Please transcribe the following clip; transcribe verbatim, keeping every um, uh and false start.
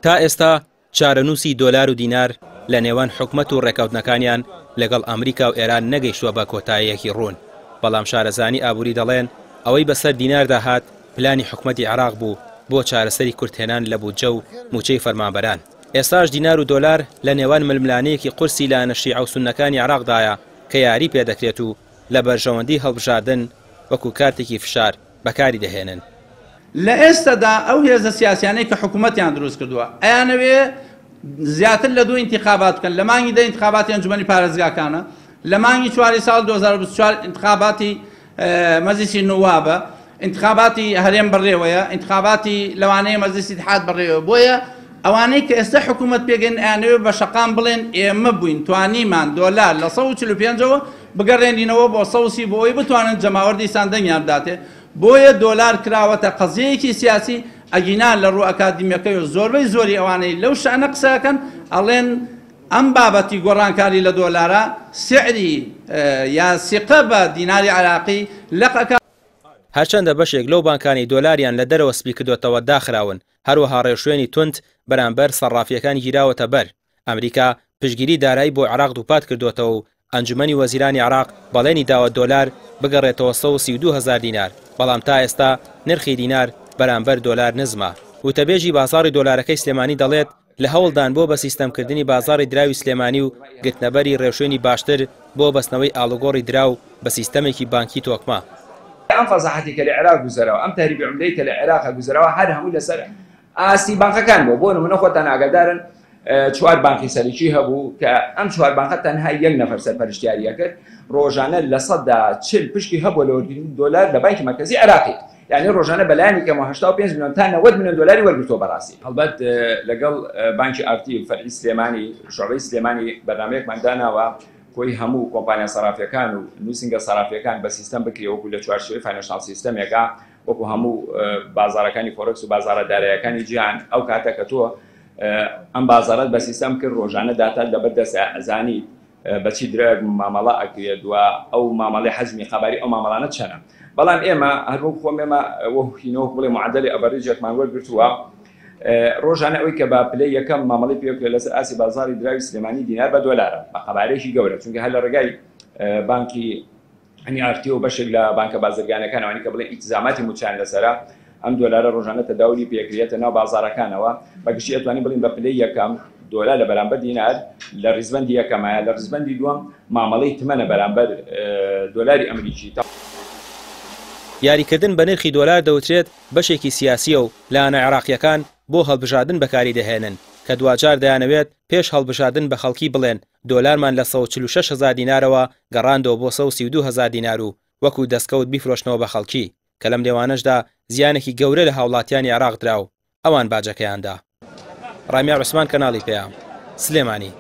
تا ئێستا چارەنووسی دۆلار و دینار لە نێوان حکومەت و ڕێککەوتنەکانیان لەگەڵ ئەمریکا و ئێران نەگەیشتووە بە کۆتاییەکی ڕوون، بەڵام شارەزانی ئابووری دەڵێن ئەوەی بەسەر دیناردا هات پلانی حکومەتی عێراق بوو بۆ چارەسەری کورتهێنان لە بودجە و موچەی فەرمانبەران. ئێستاش دینار و دۆلار لە نێوان ململانەیەکی قورسی لایەنە شیعە و سوننەکانی عێراقدایە کە یاری پێدەکرێت و لە بەرژەوەندی هەڵبژاردن وەکو کارتێکی فشار بەکاری دەهێنن. لە ئێستادا ئەو هێزە سیاسیانەی کە حکوومەتیان دروست کردووە ئەیانەوێ زیاتر لە دوو ئینتیخابات بکەن. لە مانگی دە ئینتخاباتی ئەنجومەنی پارێزگاکانە، لە مانگی چواری ساڵ دوو هەزار و بیست و چوار ئینتخاباتی مەجلیسی نوابە، ئینتخاباتی هەرێم بەڕێوەیە، ئینتخاباتی لەوانەیە مەجلیسی ئیتحاد بەڕێوە. بۆیە ئەوانەی کە ئێستا حکوومەت پێگەن ئەیانەوێ بە شەقام بڵێن ئێمە بووین توانیمان دۆلار لە سەد و چل و پێنجەوە بگەڕێنینەوە بۆ سەد و سی بۆ ئەوەی بتوانن جەماوەر دیسان دەنگیان بداتێ. بۆیە دۆلار کراوەتە قەزیەیەکی سیاسی، ئەگینا لە ڕوو ئەکادیمیەکەی و زۆربەی زۆری ئەوانەی لەو شانە قسەکەن ئەڵێن ئەم بابەتی گۆڕانکاری لە دۆلارە سعری یا سیقە بە دیناری عراقی لەقەکە. هەرچەندە بەشێک لەو بانکانی دۆلاریان لە دەرەوە سپی کردوێتەوە داخراون، هەروەها ڕێوشوێنی توند بەرامبەر سەرافیەکان گیراوەتە بەر. ئەمریکا پشتگیری دارایی بۆ عێراق دووپات کردوێتەوە و ئەنجومەنی وەزیرانی عێراق بەڵێنی داوە دۆلار بگەڕێتەوە سەد و سی و دوو هەزار دینار، بەڵام تا ئێستا نرخی دینار بەرامبەر دۆلار نزمە. وتەبێژی بازاڕی دۆلارەکەی سلێمانی دەڵێت لە هەوڵدان بۆ بە سیستەمکردنی بازاڕی دراوی سلێمانی و گرتنەبەری ڕێوشوێنی باشتر بۆ بەستنەوەی ئاڵوگۆڕی دراو بە سیستەمێکی بانکی تۆکمە. ئەم فەزاحەتی کە لە عێراق گوزەرەوە، ئەم تەهریبی عوملەی کە لە عێراق گوزەرەوە، هەر هەموو لەسەر ئاستی بانقەکان بوو. بۆ نمونە خۆتان ئاگادارن چوار بانقی سەرەکی هەبوو کە ئەم چوار بانقە تەنها یەک نەفەر سەرپەرشتیاریە کرد، ڕۆژانە لە سەدا چل پشکی هەبوو لە وەرگرتنی دۆلار لە بانکی مەرکەزی عێراقی، یعنی ڕۆژانە بەلایەنی کەمەوە هەشتا و پێنج ملیۆن تا نەوەد ملیۆن دۆلاری وەرگرتووە. بەڕاستی هەڵبەت لەگەڵ بانکی ئارتی فەرعی سلێمانی شعبەی سلێمانی بەرنامەیەکمان داناوە کۆی هەموو کۆمپانیا سەرافیەکان و نووسینگە سەرافیەکان بە سیستەم بکرێ وەکو لە چوارچێوەی financial system ێکە، وەکو هەموو بازارەکانی فۆرکس و بازارە دارایەکانی جیهان. ئەو کاتە کە تۆ ئەم بازارەت بە سیستەم کرد ڕۆژانە داتات لەبەر دەستە ئەزانیت بەچی درێک مامەڵە ئەکرێت و ئەو مامەڵەی حەجمی قەباری ئەو مامەڵانە چەنە. بەڵام ئێمە هەروەک خۆم ئێمە وەهینەوە بڵێ معدەلی average ێکمان وەرگرتووە، ڕۆژانە ئەوەی کە بە پلەی یەکەم مامەڵەی پێوەکرێت لەسەر ئاستی بازاری دراوی سلێمانی دینار بە دۆلارە بە قەبارەیەکی گەورە، چونکە هەر لە ڕێگای بانکی ئەنی ئارتی و بەشێک لە بانکە بازرگانەکان ئەوانەی کە بڵێن ئیتزاماتی موچیان لەسەرە ئەم دۆلارە ڕۆژانە تەداولی پێکرێتە ناو بازارەکانەوە. بەگشتی ئەتوانین بڵین بە پلەی یەکەم دۆلار لە بەرامبەر دینار لە ڕیزبەندی یەکەمایە، لە ڕیزبەندی دووەم مامەڵەی تمەنە بەرامبەر دۆلاری ئەمریکی. یاریکردن بە نرخی دۆلار دەوترێت بەشێکی سیاسیە و لایەنە عێراقیەکان بۆ هەڵبژاردن بەکاری دەهێنن کە دواجار دەیانەوێت پێش هەڵبژاردن بە خەڵکی بڵێن دۆلارمان لە سەد و چل و شەش هەزار دینارەوە گەڕاندەوە بۆ سەد و سی و دوو هەزار دینار و وەکو دەستکەوت بیفرۆشنەوە بە خەڵکی، کە لەم نێوانەشدا زیانێکی گەورە لە هاوڵاتیانی عێراق درا و ئەوان باجەکەیاندا. ڕامیار عوسمان، کەناڵی پەیام، سلێمانی.